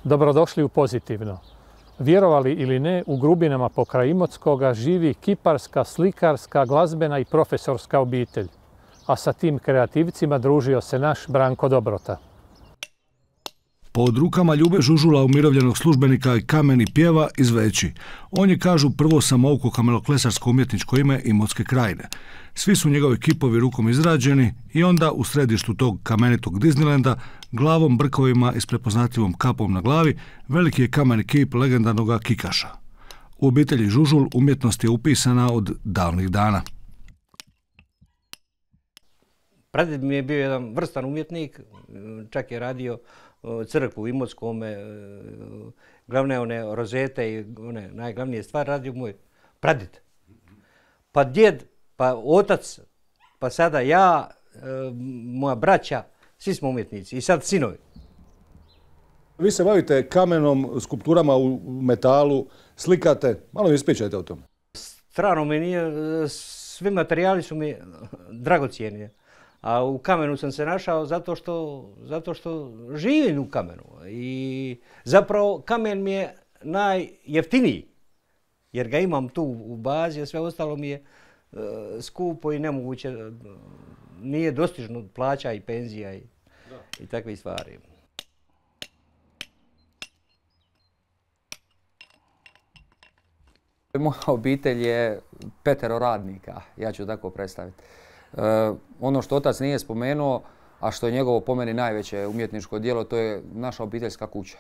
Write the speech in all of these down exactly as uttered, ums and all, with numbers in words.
Dobrodošli u Pozitivno. Vjerovali ili ne, u Grubinama pokraj Imotskoga živi kiparska, slikarska, glazbena i profesorska obitelj. A sa tim kreativcima družio se naš Branko Dobrota. Pod rukama Ljube Žužula, umirovljenog službenika i kameni pjeva iz Veći. On je, kažu, prvo samouko kameloklesarsko umjetničko ime Imotske krajine. Svi su njegovi kipovi rukom izrađeni i onda u središtu tog kamenitog Disneylanda, glavom, brkovima i s prepoznatljivom kapom na glavi, veliki je kameni kip legendarnog Kikaša. U obitelji Žužul umjetnost je upisana od davnih dana. Pradjed mi je bio jedan vrstan umjetnik, čak je radio crkvu u Imotskome, glavne one rozete i one najglavnije stvari radio moj pradjed. Pa djed, pa otac, pa sada ja, moja braća, svi smo umjetnici i sad sinovi. Vi se bavite kamenom, skulpturama u metalu, slikate. Malo mi ispričajte o tome. Strano mi nije, svi materijali su mi dragocijeni. A u kamenu sam se našao zato što, zato što živim u kamenu. I zapravo kamen mi je najjeftiniji. Jer ga imam tu u bazi, a sve ostalo mi je e, skupo i nemoguće. Nije dostižno plaća i penzija i, i takve stvari. Moja obitelj je petero radnika, ja ću tako predstaviti. E, ono što otac nije spomenuo, a što je njegovo po meni najveće umjetničko djelo, to je naša obiteljska kuća.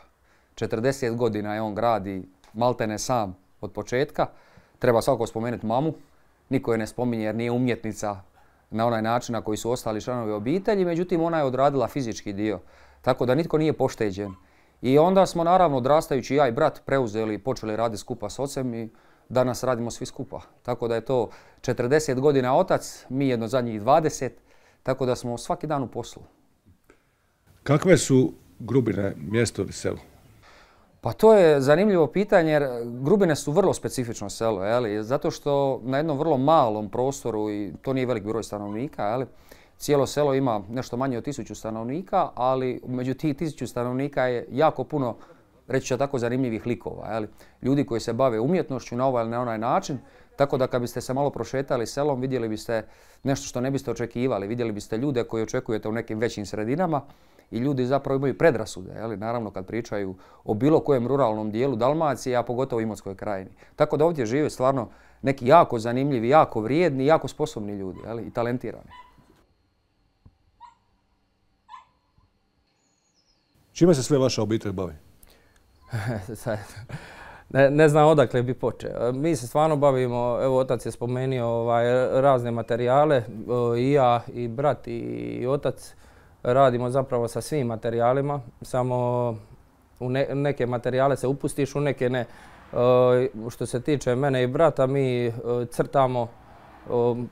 četrdeset godina je on gradi maltene sam od početka. Treba svakako spomenuti mamu. Niko je ne spominje jer nije umjetnica na onaj način na koji su ostali članovi obitelji, međutim ona je odradila fizički dio, tako da nitko nije pošteđen. I onda smo naravno odrastajući ja i brat preuzeli i počeli raditi skupa s ocem i danas radimo svi skupa. Tako da je to četrdeset godina otac, mi jedno zadnjih dvadeset, tako da smo svaki dan u poslu. Kakve su Grubine, mjesto ili selo? Pa to je zanimljivo pitanje jer Grubine su vrlo specifično selo, jeli? Zato što na jednom vrlo malom prostoru, i to nije velik broj stanovnika, jeli? Cijelo selo ima nešto manje od tisuću stanovnika, ali među tih tisuću stanovnika je jako puno, reći ću tako, zanimljivih likova. Jeli? Ljudi koji se bave umjetnošću na ovaj ili na onaj način, tako da kad biste se malo prošetali selom vidjeli biste nešto što ne biste očekivali. Vidjeli biste ljude koji očekujete u nekim većim sredinama i ljudi zapravo imaju predrasude. Jeli? Naravno kad pričaju o bilo kojem ruralnom dijelu Dalmacije, a pogotovo u Imotskoj krajini. Tako da ovdje žive stvarno neki jako zanimljivi, jako vrijedni, jako sposobni ljudi, jeli? I talentirani. Čime se sve vaša obitelj bavi? ne, ne znam odakle bi počeo. Mi se stvarno bavimo, evo otac je spomenuo ovaj, razne materijale, i ja i brat i otac radimo zapravo sa svim materijalima, samo u ne, neke materijale se upustiš, u neke ne. Što se tiče mene i brata, mi crtamo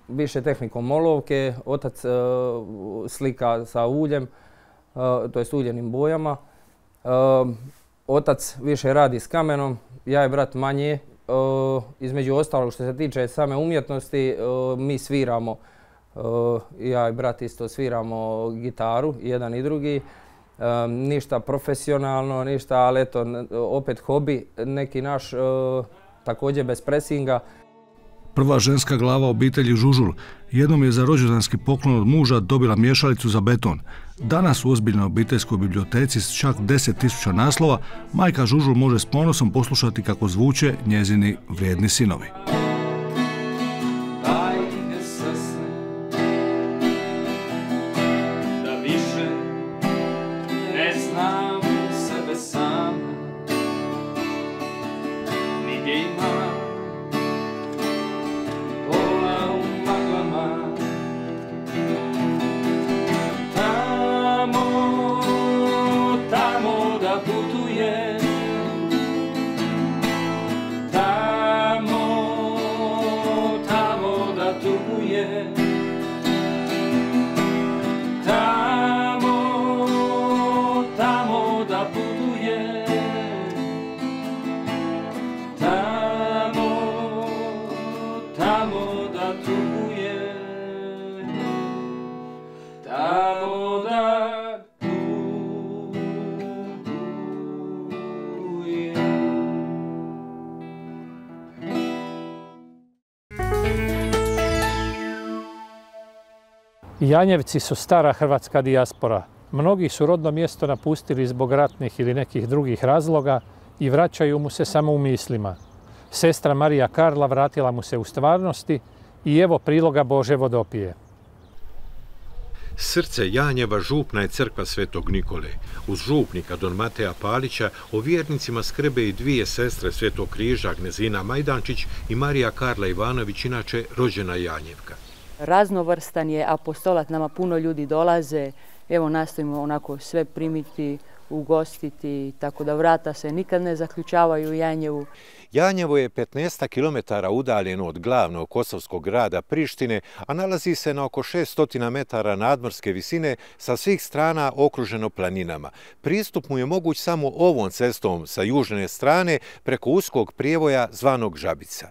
više tehnikom olovke, otac slika sa uljem, to jest uljenim bojama. Otac više radi s kamenom, ja i brat manje. Između ostalog što se tiče same umjetnosti, mi sviramo, ja i brat isto sviramo gitaru, jedan i drugi. Ništa profesionalno, ništa, ali eto, opet hobi, neki naš, također bez presinga. Prva ženska glava obitelji Žužul jednom je za rođendanski poklon od muža dobila miješalicu za beton. Danas u ozbiljnoj obiteljskoj biblioteci s čak deset tisuća naslova majka Žužul može s ponosom poslušati kako zvuče njezini vrijedni sinovi. Tamo Janjevci su stara hrvatska dijaspora. Mnogi su rodno mjesto napustili zbog ratnih ili nekih drugih razloga i vraćaju mu se samo u mislima. Sestra Marija Karla vratila mu se u stvarnosti i evo priloga Bože vodopije. Srce Janjeva župna je crkva Svetog Nikole. Uz župnika Don Mateja Palića o vjernicima skrbe i dvije sestre Svetog Križa, Gnezina Majdančić i Marija Karla Ivanović, inače rođena Janjevka. Raznovrstan je apostolat, nama puno ljudi dolaze, evo nastojimo onako sve primiti, ugostiti, tako da vrata se nikad ne zaključavaju u Janjevu. Janjevo je petnaest kilometara udaljeno od glavnog kosovskog grada Prištine, a nalazi se na oko šessto metara nadmorske visine, sa svih strana okruženo planinama. Pristup mu je moguć samo ovom cestom sa južne strane preko uskog prijevoja zvanog Žabica.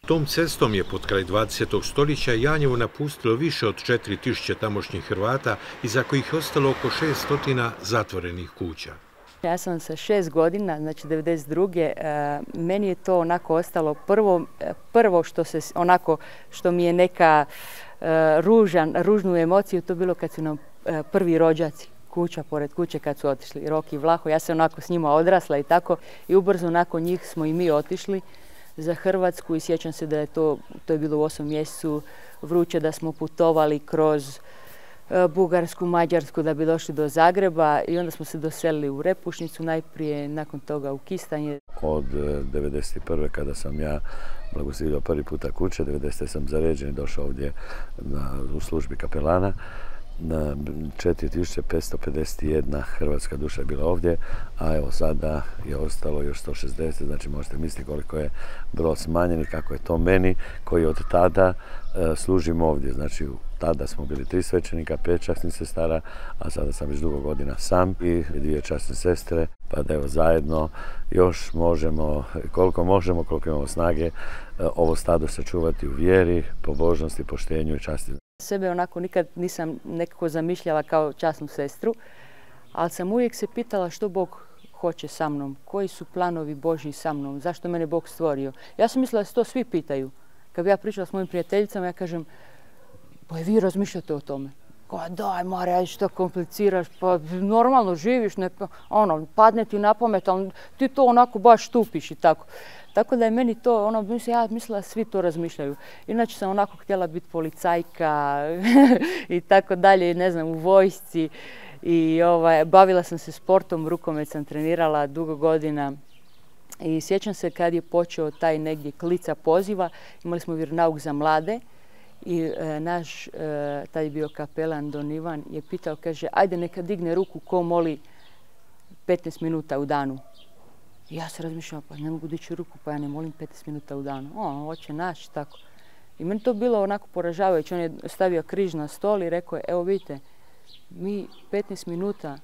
Tom cestom je pod kraj dvadesetog stoljeća Janjevo napustilo više od četiri tisuće tamošnjih Hrvata, iza kojih je ostalo oko šeststo zatvorenih kuća. Ja sam sa šest godina, znači devedeset druge meni je to onako ostalo prvo, prvo što se onako, što mi je neka ružan, ružnu emociju, to bilo kad su nam prvi rođaci, kuća pored kuće kad su otišli, Rok i Vlaho. Ja sam onako s njima odrasla i tako i ubrzo nakon njih smo i mi otišli za Hrvatsku i sjećam se da je to, to je bilo u osmom mjesecu vruće, da smo putovali kroz Bugarsku, Mađarsku da bi došli do Zagreba i onda smo se doselili u Repušnicu najprije, nakon toga u Kistanje. Od devedeset prve kada sam ja blagoslovio prvi puta kuće, devedesete sam zaređen i došao ovdje na, u službi kapelana. četiri tisuće petsto pedeset jedna hrvatska duša je bila ovdje, a evo sada je ostalo još sto šezdeset, znači možete misliti koliko je broj smanjen i kako je to meni koji od tada e, služim ovdje. Znači tada smo bili tri svećenika, pet časnih sestara, a sada sam već dugo godina sam i dvije časne sestre, pa da evo zajedno još možemo, koliko možemo, koliko imamo snage, e, ovo stado sačuvati u vjeri, pobožnosti, poštenju i časti. Sebe onako nikad nisam nekako zamišljala kao časnu sestru, ali sam uvijek se pitala što Bog hoće sa mnom, koji su planovi Božji sa mnom, zašto mene Bog stvorio. Ja sam mislila da se to svi pitaju. Kad bi ja pričala s mojim prijateljicama, ja kažem, pa vi razmišljate o tome. Kao, daj Marija, što kompliciraš, pa normalno živiš, ne, ono, padne ti na pamet, ali ti to onako baš tupiš i tako. Tako da je meni to, ono, ja mislila svi to razmišljaju. Inače sam onako htjela biti policajka i tako dalje, ne znam, u vojsci. I ovaj, bavila sam se sportom, rukomet sam trenirala dugo godina. I sjećam se kad je počeo taj negdje klica poziva, imali smo vjeronauk za mlade. I e, naš, e, taj je bio kapelan Don Ivan, je pitao, kaže, ajde neka digne ruku ko moli petnaest minuta u danu. I ja se razmišljala, pa ne mogu dići ruku, pa ja ne molim petnaest minuta u danu. O, hoće naći, tako. I meni to bilo onako poražavajuće. On je stavio križ na stol i rekao je, evo vidite, mi petnaest minuta,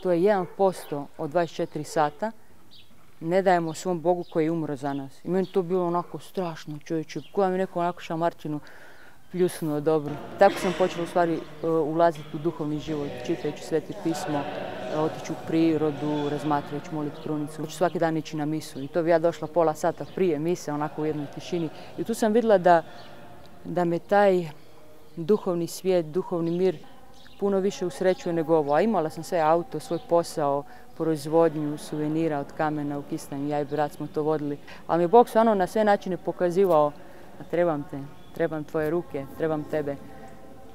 to je jedan posto od dvadeset četiri sata, ne dajemo svom Bogu koji je umro za nas. I meni to bilo onako strašno, čovječe, koja mi neko onako šamarčinu pljusnuo dobro. Tako sam počela u stvari ulaziti u duhovni život, čitajući Sveti pismo, otići u prirodu, razmatrajući moliti krunicu. Hoću svaki dan ići na misu i to bi ja došla pola sata prije mise, onako u jednoj tišini. I tu sam vidjela da, da me taj duhovni svijet, duhovni mir puno više usrećuje nego ovo. A imala sam sve auto, svoj posao, proizvodnju suvenira od kamena u Kistanju. Ja i brat smo to vodili. Ali mi je Bog stvarno na sve načine pokazivao da trebam te. Trebam tvoje ruke, trebam tebe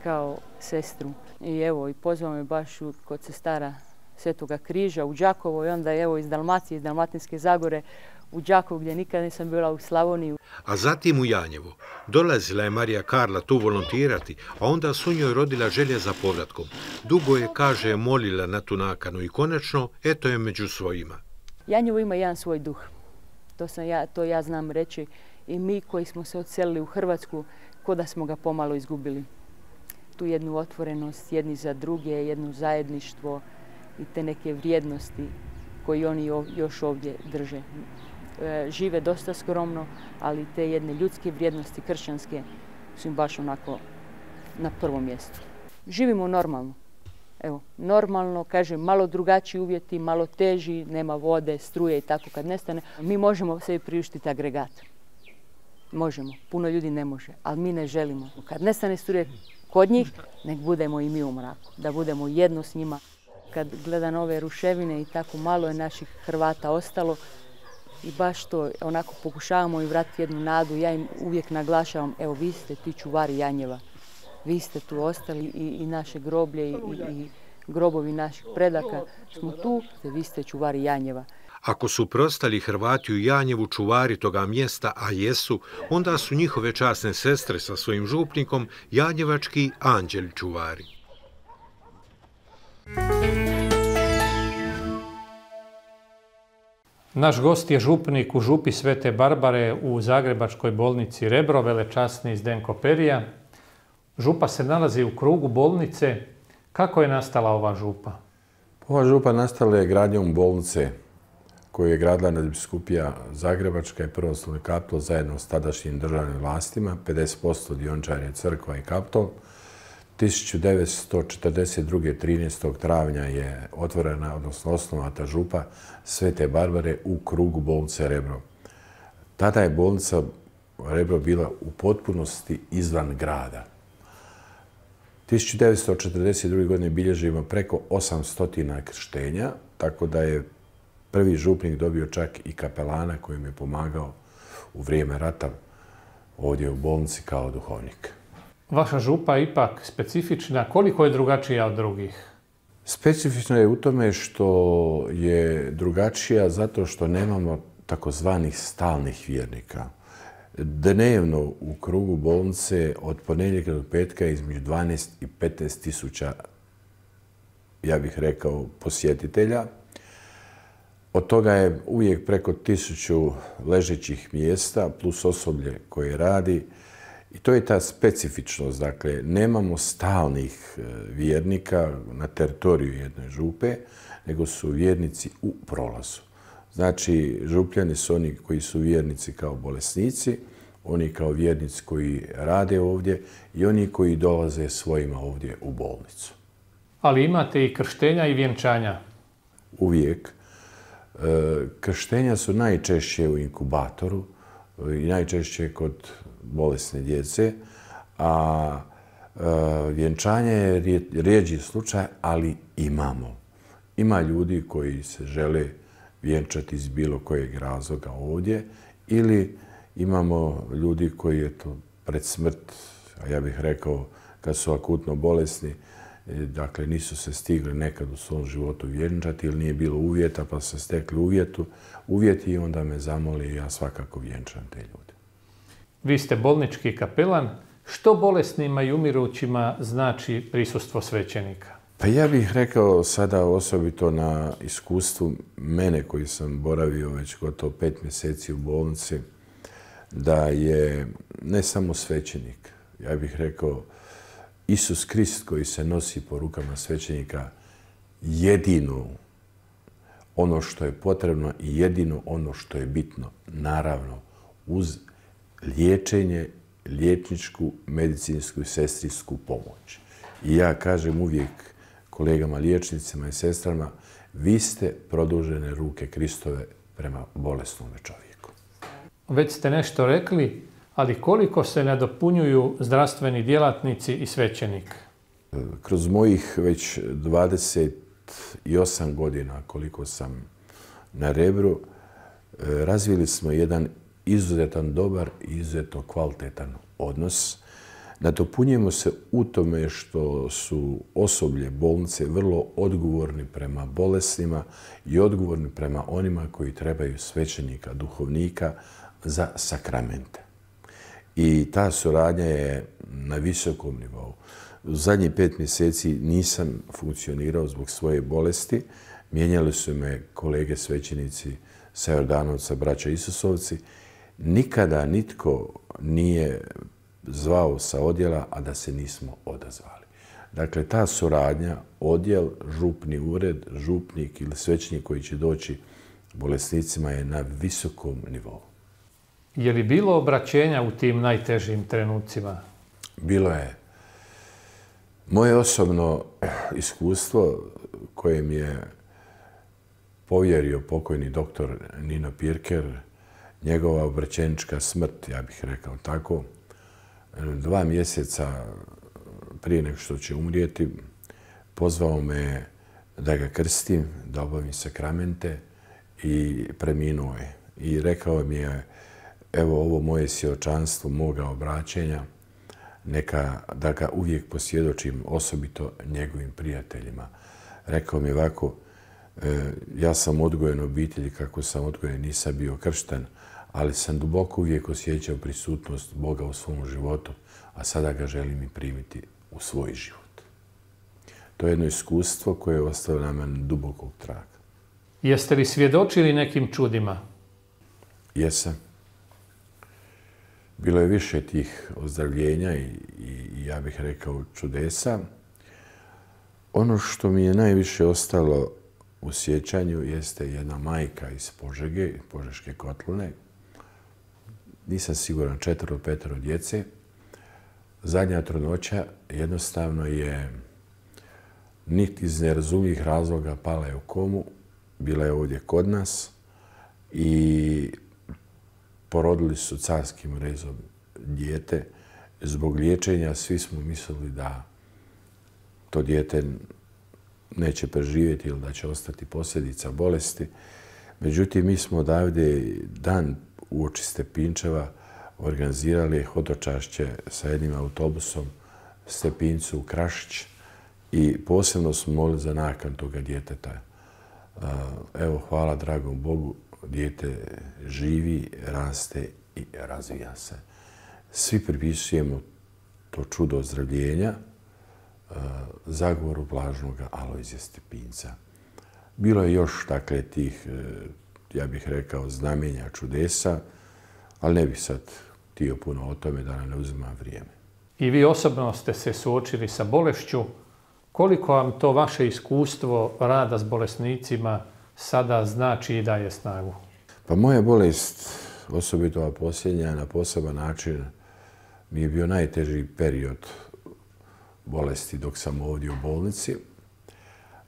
kao sestru. I evo, i pozvao me baš kod sestara Svetoga Križa u Đakovo i onda evo iz Dalmacije, iz Dalmatinske Zagore u Đakovo gdje nikad nisam bila u Slavoniji. A zatim u Janjevo. Dolazila je Marija Karla tu volontirati, a onda su njoj rodila želja za povratkom. Dugo je, kaže, molila na tu nakanu i konačno, eto je među svojima. Janjevo ima jedan svoj duh. To, sam ja, to ja znam reći. I mi koji smo se odselili u Hrvatsku, ko da smo ga pomalo izgubili. Tu jednu otvorenost, jedni za druge, jedno zajedništvo i te neke vrijednosti koje oni još ovdje drže. E, žive dosta skromno, ali te jedne ljudske vrijednosti, kršćanske, su im baš onako na prvom mjestu. Živimo normalno. Evo, normalno, kažem, malo drugačiji uvjeti, malo teži, nema vode, struje i tako kad nestane. Mi možemo sebi priuštiti agregat. Možemo, puno ljudi ne može, ali mi ne želimo. Kad nestane struje, kod njih, nek budemo i mi u mraku, da budemo jedno s njima. Kad gledam ove ruševine i tako malo je naših Hrvata ostalo i baš to onako pokušavamo im vratiti jednu nadu. Ja im uvijek naglašavam, evo vi ste ti čuvari Janjeva, vi ste tu ostali i, i naše groblje i, i grobovi naših predaka smo tu, vi ste čuvari Janjeva. Ako su prostali Hrvati u Janjevu čuvari toga mjesta, a jesu, onda su njihove časne sestre sa svojim župnikom janjevački anđeli čuvari. Naš gost je župnik u župi Svete Barbare u Zagrebačkoj bolnici Rebro, velečasni Zdenko Perija. Župa se nalazi u krugu bolnice. Kako je nastala ova župa? Ova župa nastala je gradnjom bolnice koju je gradila nadbiskupija Zagrebačka i Prvoslavni Kaptol zajedno s tadašnjim državnim vlastima, pedeset posto dioničar je crkva i Kaptol. tisuću devetsto četrdeset druge. trinaestog travnja je otvorena, odnosno osnovata župa Svete Barbare u krugu bolnice Rebro. Tada je bolnica Rebro bila u potpunosti izvan grada. tisuću devetsto četrdeset druge. godine bilježimo preko osamsto krštenja, tako da je prvi župnik dobio čak i kapelana koji mi je pomagao u vrijeme rata ovdje u bolnici kao duhovnik. Vaša župa je ipak specifična. Koliko je drugačija od drugih? Specifično je u tome što je drugačija zato što nemamo takozvanih stalnih vjernika. Dnevno u krugu bolnice od ponedjeljka do petka između dvanaest i petnaest tisuća, ja bih rekao, posjetitelja. Od toga je uvijek preko tisuću ležećih mjesta plus osoblje koje radi. I to je ta specifičnost. Dakle, nemamo stalnih vjernika na teritoriju jedne župe, nego su vjernici u prolazu. Znači, župljani su oni koji su vjernici kao bolesnici, oni kao vjernici koji rade ovdje i oni koji dolaze svojima ovdje u bolnicu. Ali imate i krštenja i vjenčanja? Uvijek. Krštenja su najčešće u inkubatoru i najčešće kod bolesne djece, a vjenčanje je rijeđi slučaj, ali imamo. Ima ljudi koji se žele vjenčati iz bilo kojeg razloga ovdje ili imamo ljudi koji eto, pred smrt, a ja bih rekao kad su akutno bolesni, dakle nisu se stigli nekad u svom životu vjenčati ili nije bilo uvjeta pa su stekli uvjetu, uvjeti i onda me zamoli i ja svakako vjenčam te ljude. Vi ste bolnički kapelan. Što bolesnima i umirućima znači prisustvo svećenika? Pa ja bih rekao sada osobito na iskustvu mene koji sam boravio već gotovo pet mjeseci u bolnici, da je ne samo svećenik, ja bih rekao Isus Krist koji se nosi po rukama svećenika jedino ono što je potrebno i jedino ono što je bitno, naravno uz liječenje, liječničku, medicinsku i sestrinsku pomoć. I ja kažem uvijek kolegama liječnicima i sestrama, vi ste produžene ruke Kristove prema bolesnome čovjeku. Već ste nešto rekli, ali koliko se nadopunjuju zdravstveni djelatnici i svećenik? Kroz mojih već dvadeset osam godina koliko sam na Rebru, razvili smo jedan izuzetan dobar i izuzetno kvalitetan odnos. Nadopunjujemo se u tome što su osoblje bolnice vrlo odgovorni prema bolesnima i odgovorni prema onima koji trebaju svećenika, duhovnika za sakramente. I ta suradnja je na visokom nivou. U zadnjih pet mjeseci nisam funkcionirao zbog svoje bolesti. Mijenjali su me kolege svećenici sa Jordanovca, braća Isusovci. Nikada nitko nije zvao sa odjela, a da se nismo odazvali. Dakle, ta suradnja, odjel, župni ured, župnik ili svećenik koji će doći bolesnicima je na visokom nivou. Je li bilo obraćenja u tim najtežim trenucima? Bilo je. Moje osobno iskustvo koje mi je povjerio pokojni doktor Nino Pirker, njegova obraćenička smrt, ja bih rekao tako, dva mjeseca prije nego što će umrijeti, pozvao me da ga krstim, da obavim sakramente i preminuo je. I rekao mi je, evo ovo moje svjedočanstvo moga obraćenja, neka da ga uvijek posvjedočim osobito njegovim prijateljima. Rekao mi ovako, ja sam odgojen u obitelji kako sam odgojen, nisam bio kršten, ali sam duboko uvijek osjećao prisutnost Boga u svom životu, a sada ga želim i primiti u svoj život. To je jedno iskustvo koje je ostavilo na mene dubokog traga. Jeste li svjedočili nekim čudima? Jesam. Bilo je više tih ozdravljenja i, i ja bih rekao čudesa. Ono što mi je najviše ostalo u sjećanju jeste jedna majka iz Požege, Požeške Kotline. Nisam siguran, četvero, petero djece. Zadnja trudnoća jednostavno je niti iz nerazumljivih razloga pala je u komu. Bila je ovdje kod nas i porodili su carskim rezom dijete. Zbog liječenja svi smo mislili da to dijete neće preživjeti ili da će ostati posljedica bolesti. Međutim, mi smo odavde dan uoči Stepinčeva organizirali hodočašće sa jednim autobusom Stepincu u Krašić i posebno smo molili za nakon toga djeteta. Evo, hvala dragom Bogu, dijete živi, raste i razvija se. Svi pripisujemo to čudo ozdravljenja zagovoru blažnog Alojzija Stepinca. Bilo je još, dakle, tih, ja bih rekao, znamenja, čudesa, ali ne bih sad htio puno o tome da nam ne uzima vrijeme. I vi osobno ste se suočili sa bolešću. Koliko vam to vaše iskustvo rada s bolesnicima sada znači i daje snagu? Pa moja bolest, osobito ova posljednja, na poseban način mi je bio najteži period bolesti dok sam ovdje u bolnici.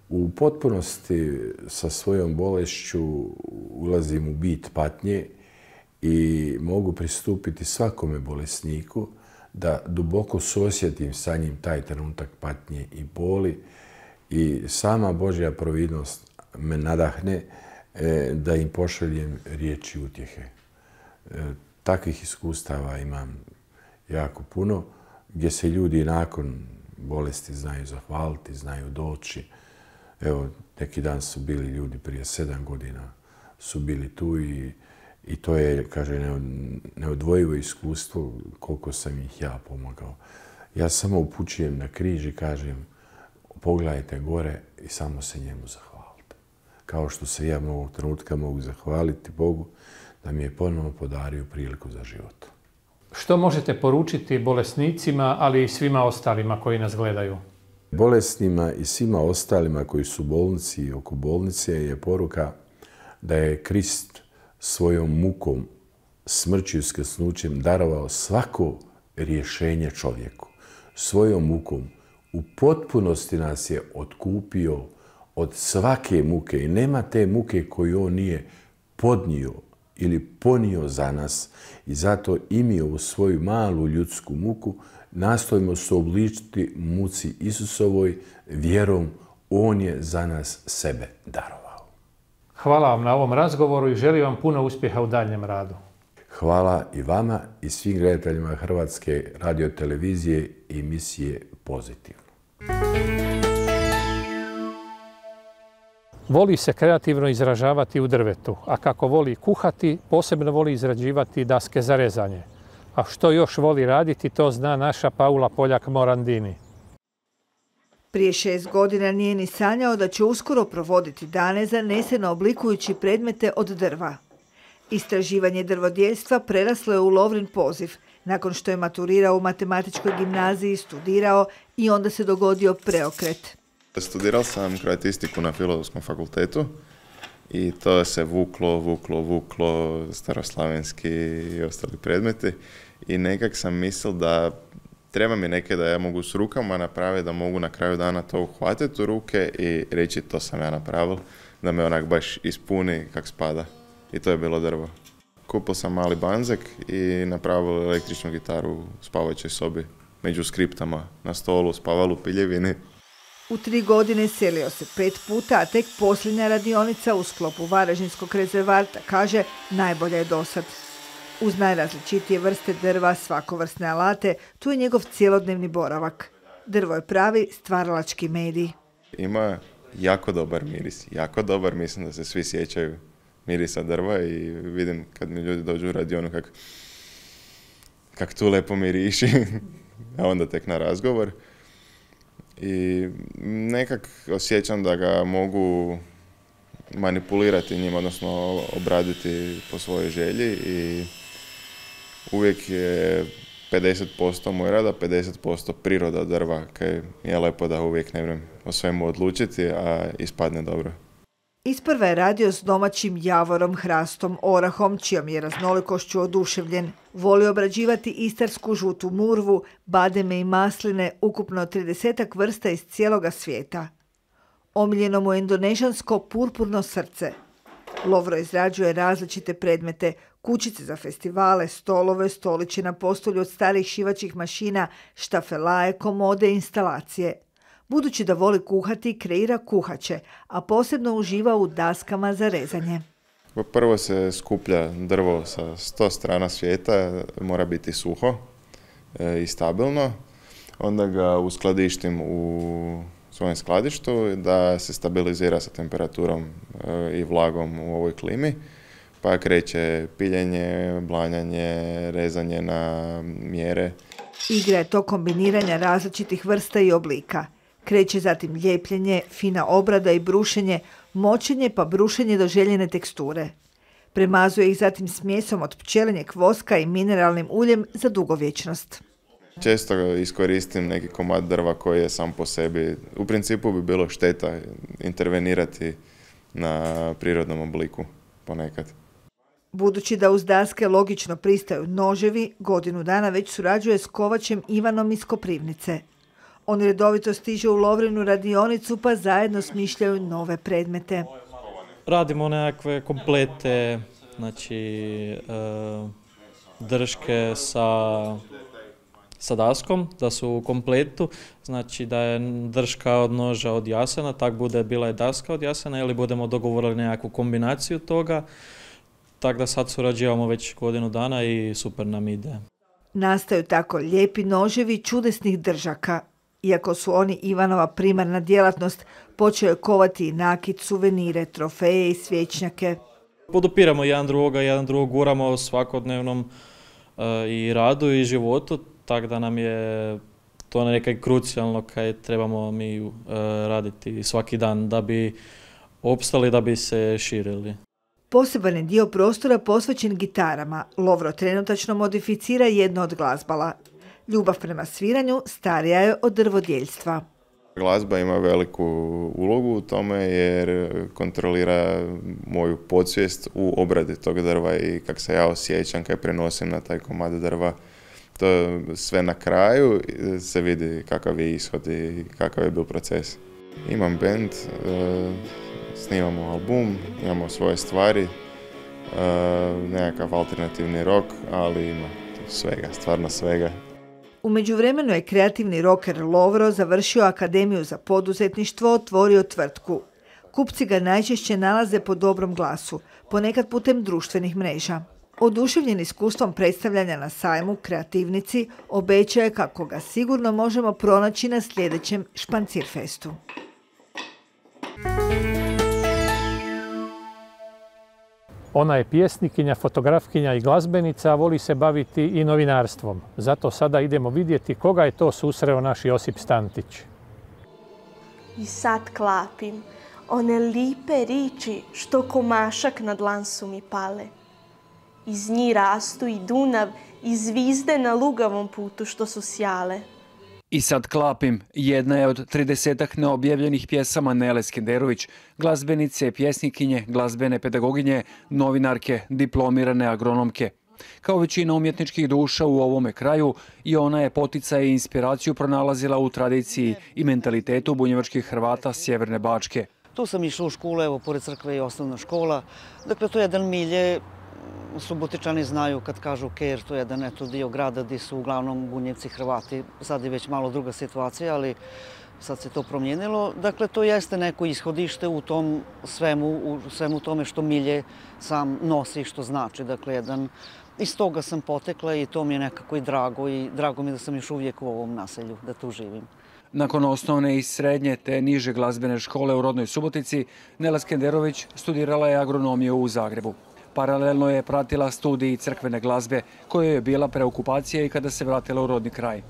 U potpunosti sa svojom bolešću ulazim u bit patnje i mogu pristupiti svakome bolesniku da duboko suosjetim sa njim taj trenutak patnje i boli i sama Božja providnost me nadahne da im pošaljem riječi utjehe. Takvih iskustava imam jako puno, gdje se ljudi nakon bolesti znaju zahvaliti, znaju doći. Evo, neki dan su bili ljudi prije sedam godina, su bili tu i, i to je, kaže, neodvojivo iskustvo koliko sam ih ja pomogao. Ja samo upućujem na križ i kažem, pogledajte gore i samo se njemu zahvalite. Kao što se ja ovog trenutka mogu zahvaliti Bogu da mi je ponovno podario priliku za život. Što možete poručiti bolesnicima, ali i svima ostalima koji nas gledaju? Bolesnima i svima ostalima koji su u bolnici i oko bolnice je poruka da je Krist svojom mukom, smrću i uskrsnućem darovao svako rješenje čovjeku. Svojom mukom u potpunosti nas je otkupio od svake muke i nema te muke koju on nije podnio ili ponio za nas i zato i mi ovu svoju malu ljudsku muku nastojimo se obličiti muci Isusovoj vjerom. On je za nas sebe darovao. Hvala vam na ovom razgovoru i želim vam puno uspjeha u daljnjem radu. Hvala i vama i svim gledateljima Hrvatske radiotelevizije i emisije Pozitivno. Voli se kreativno izražavati u drvetu, a kako voli kuhati, posebno voli izrađivati daske za rezanje. A što još voli raditi, to zna naša Paula Poljak-Morandini. Prije šest godina nije ni sanjao da će uskoro provoditi dane zaneseno oblikujući predmete od drva. Istraživanje drvodjeljstva preraslo je u Lovrin poziv. Nakon što je maturirao u matematičkoj gimnaziji, studirao i onda se dogodio preokret. Studirao sam kroatistiku na Filozofskom fakultetu i to se vuklo, vuklo, vuklo, staroslavenski i ostali predmeti. I nekak sam mislil da treba mi neke da ja mogu s rukama napraviti, da mogu na kraju dana to uhvatiti u ruke i reći to sam ja napravil, da me onak baš ispuni kak spada. I to je bilo drvo. Kupio sam mali banzek i napravil električnu gitaru u spavajućoj sobi među skriptama na stolu, spavalo u piljevini. U tri godine selio se pet puta, a tek posljednja radionica u sklopu Varaždinskog rezervata, kaže, najbolja je dosad. Uz najrazličitije vrste drva, svakovrsne alate, tu je njegov cjelodnevni boravak. Drvo je pravi stvaralački medij. Ima jako dobar miris, jako dobar, mislim da se svi sjećaju mirisa drva i vidim kad mi ljudi dođu u radionu kak, kak tu lepo miriši, a onda tek na razgovor. I nekak osjećam da ga mogu manipulirati njim, odnosno obraditi po svojoj želji i uvijek je pedeset posto moj rada, pedeset posto priroda drva, kaj je lepo da uvijek ne vrem o svemu odlučiti, a ispadne dobro. Isprva je radio s domaćim javorom, hrastom, orahom, čijom je raznolikošću oduševljen. Voli obrađivati istarsku žutu murvu, bademe i masline, ukupno tridesetak vrsta iz cijeloga svijeta. Omiljeno mu je indonežansko purpurno srce. Lovro izrađuje različite predmete, kućice za festivale, stolove, stoliće na postolju od starih šivačih mašina, štafelaje, komode i instalacije. Budući da voli kuhati, kreira kuhače, a posebno uživa u daskama za rezanje. Prvo se skuplja drvo sa sto strana svijeta, mora biti suho e, i stabilno. Onda ga uskladištim u svojem skladištu da se stabilizira sa temperaturom e, i vlagom u ovoj klimi. Pa kreće piljenje, blanjanje, rezanje na mjere. Igra je to kombiniranja različitih vrsta i oblika. Kreće zatim ljepljenje, fina obrada i brušenje, močenje pa brušenje do željene teksture. Premazuje ih zatim smjesom od pčelinjeg voska i mineralnim uljem za dugovječnost. Često iskoristim neki komad drva koji je sam po sebi. U principu bi bilo šteta intervenirati na prirodnom obliku ponekad. Budući da uz daske logično pristaju noževi, godinu dana već surađuje s kovačem Ivanom iz Koprivnice. On redovito stiže u Lovrinu radionicu pa zajedno smišljaju nove predmete. Radimo nekakve komplete, znači drške sa, sa daskom, da su u kompletu, znači da je drška od noža od jasena, tak bude bila je daska od jasena ili budemo dogovorili nekakvu kombinaciju toga. Tako da sad surađujemo već godinu dana i super nam ide. Nastaju tako lijepi noževi čudesnih držaka. Iako su oni Ivanova primarna djelatnost, počeo je kovati i nakit, suvenire, trofeje i svječnjake. Podupiramo jedan drugoga, jedan drugog guramo u svakodnevnom uh, i radu i životu, tako da nam je to nekaj krucijalno kaj trebamo mi uh, raditi svaki dan da bi opstali, da bi se širili. Poseban je dio prostora posvećen gitarama. Lovro trenutačno modificira jedno od glazbala. Ljubav prema sviranju starija je od drvodjeljstva. Glazba ima veliku ulogu u tome jer kontrolira moju podsvijest u obradi tog drva i kako se ja osjećam kad prenosim na taj komad drva. To sve na kraju se vidi kakav je ishod i kakav je bil proces. Imam band, snimamo album, imamo svoje stvari, nekakav alternativni rock, ali ima svega, stvarno svega. U međuvremenu je kreativni roker Lovro završio Akademiju za poduzetništvo, otvorio tvrtku. Kupci ga najčešće nalaze po dobrom glasu, ponekad putem društvenih mreža. Oduševljen iskustvom predstavljanja na sajmu Kreativnici, obećaje kako ga sigurno možemo pronaći na sljedećem Špancirfestu. Ona je pjesnikinja, fotografkinja i glazbenica, a voli se baviti i novinarstvom. Zato sada idemo vidjeti koga je to susreo naš Josip Stantić. I sad klapim one lipe riči što komašak na dlan su mi pale. Iz njih rastu i Dunav i zvizde na lugavom putu što su sjale. I sad klapim, jedna je od tridesetak neobjavljenih pjesama Nele Skenderović, glazbenice, pjesnikinje, glazbene pedagoginje, novinarke, diplomirane agronomke. Kao većina umjetničkih duša u ovome kraju, i ona je poticaj i inspiraciju pronalazila u tradiciji i mentalitetu bunjevačkih Hrvata Sjeverne Bačke. Tu sam išla u školu, evo, pored crkve i osnovna škola. Dakle, to je jedan milje Subotičani znaju kad kažu Ker, to je jedan eto dio grada gdje su uglavnom Bunjevci, Hrvati. Sad je već malo druga situacija, ali sad se to promijenilo. Dakle, to jeste neko ishodište u tom svemu, u svemu tome što Milje sam nosi i što znači. Dakle, jedan, iz toga sam potekla i to mi je nekako i drago i drago mi je da sam još uvijek u ovom naselju, da tu živim. Nakon osnovne i srednje te niže glazbene škole u rodnoj Subotici, Nela Skenderović studirala je agronomiju u Zagrebu. Paralelno je pratila studij crkvene glazbe, kojoj je bila preokupacija i kada se vratila u rodni kraj.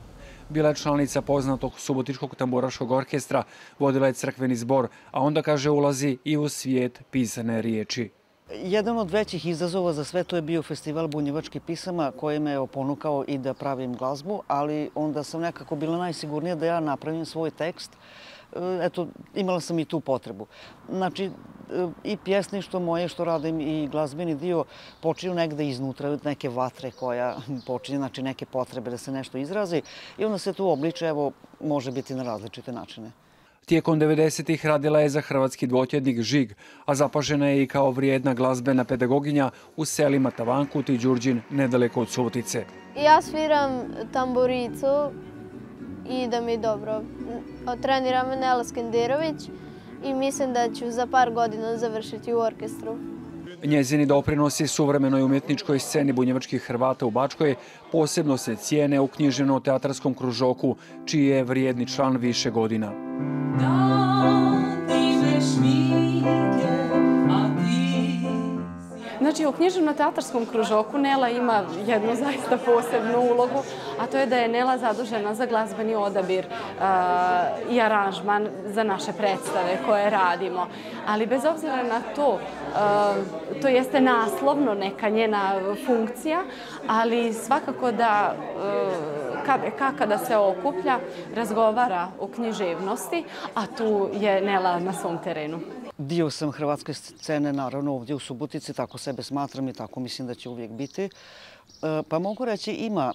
Bila je članica poznatog subotičkog tamburaškog orkestra, vodila je crkveni zbor, a onda, kaže, ulazi i u svijet pisane riječi. Jedan od većih izazova za sve to je bio festival bunjevačkih pisama koji me je ponukao i da pravim glazbu, ali onda sam nekako bila najsigurnija da ja napravim svoj tekst. Eto, imala sam i tu potrebu. Znači, i pjesništvo moje što radim i glazbeni dio počinju negde iznutra, od neke vatre koja počinje, znači neke potrebe da se nešto izrazi i onda se tu obliče, evo, može biti na različite načine. Tijekom devedesetih radila je za hrvatski dvotjednik Žig, a zapažena je i kao vrijedna glazbena pedagoginja u selima Tavankut i Đurđin, nedaleko od Subotice. Ja sviram tamburicu i da mi je dobro. Trenira me Nela Skenderović i mislim da ću za par godina završiti u orkestru. Njezini doprinosi suvremenoj umjetničkoj sceni bunjevačkih Hrvata u Bačkoj posebno se cijene u književno-teatarskom kružoku, čiji je vrijedni član više godina. Znači, u književno-teatarskom kružoku Nela ima jednu zaista posebnu ulogu, a to je da je Nela zadužena za glazbeni odabir uh, i aranžman za naše predstave koje radimo. Ali bez obzira na to, uh, to jeste naslovno neka njena funkcija, ali svakako da uh, K B K kada se okuplja, razgovara o književnosti, a tu je Nela na svom terenu. Dio sam hrvatske scene, naravno, ovdje u Subotici, tako sebe smatram i tako mislim da će uvijek biti. Pa mogu reći, ima,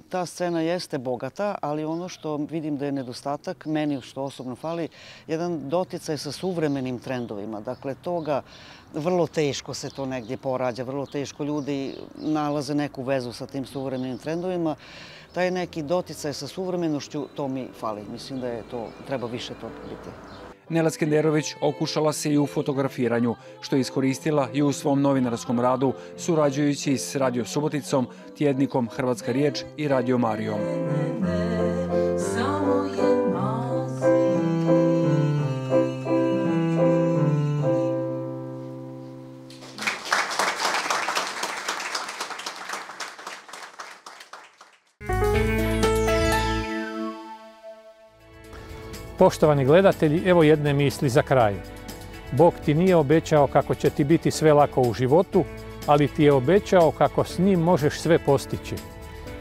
ta scena jeste bogata, ali ono što vidim da je nedostatak, meni što osobno fali, jedan doticaj sa suvremenim trendovima. Dakle, toga vrlo teško se to negdje porađa, vrlo teško ljudi nalaze neku vezu sa tim suvremenim trendovima. Taj neki doticaj sa suvremenošću, to mi fali. Mislim da je to, treba više to biti. Nela Skenderović okušala se i u fotografiranju, što je iskoristila i u svom novinarskom radu, surađujući s Radio Suboticom, tjednikom Hrvatska riječ i Radio Marijom. Poštovani gledatelji, evo jedne misli za kraj. Bog ti nije obećao kako će ti biti sve lako u životu, ali ti je obećao kako s njim možeš sve postići.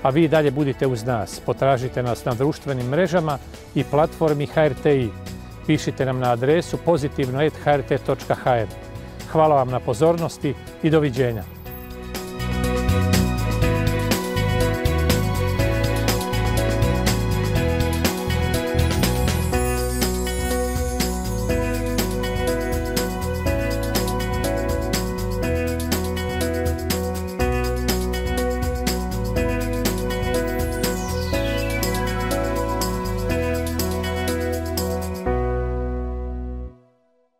A vi dalje budite uz nas. Potražite nas na društvenim mrežama i platformi H R T I. Pišite nam na adresu pozitivno et h r t točka h r. Hvala vam na pozornosti i doviđenja.